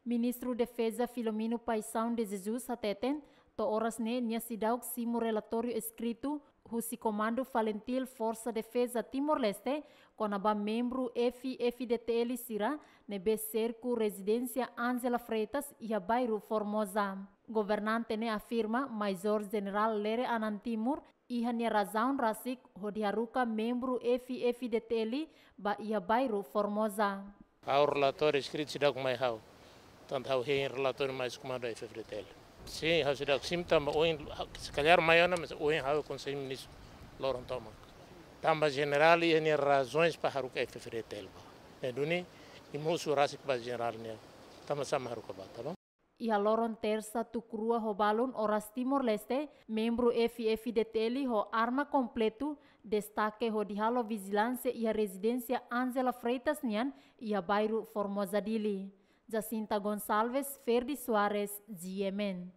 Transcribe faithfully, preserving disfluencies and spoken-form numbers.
Ministru Defeza Filomeno Paixão de Jesus hateten, to'o oras ne'e nia seidauk simu relatóriu eskritu husi Komandu Falintil Forsa Defeza Timor-Leste kona-ba membru F-FDTL sira ne'ebé serku rezidénsia Ángela Freitas iha bairru Formosa. Governante ne'e afirma Major Jenerál Lere Anan Timur iha nia razaun rasik hodi haruka membru F-FDTL ba iha bairru Formosa. Ha'u relatóriu eskritu seidauk mai ha'u. Tanba ha'u hein relatóriu mai husi Komandu F-FDTL. Sin, ha'u seidauk simu tanba ohin, se kalhar mai ona, mas ohin ha'u Konsellu Ministru loron tomak. Tanba jenerál iha nia razoens para haruka F-FDTL ba. Ne'e duni, imi husu rasik ba jenerál nian. Tanba sá mak haruka ba, tá bom? Iha loron Tersa tuku rua ho balun oras Timor-Leste, membru F-FDTL ho arma kompletu destake hodi halo vijilánsia iha rezidénsia Ángela Freitas nian iha bairru Formosa, Dili. Jacinta Gonçalves, Ferdi Soares, G M N.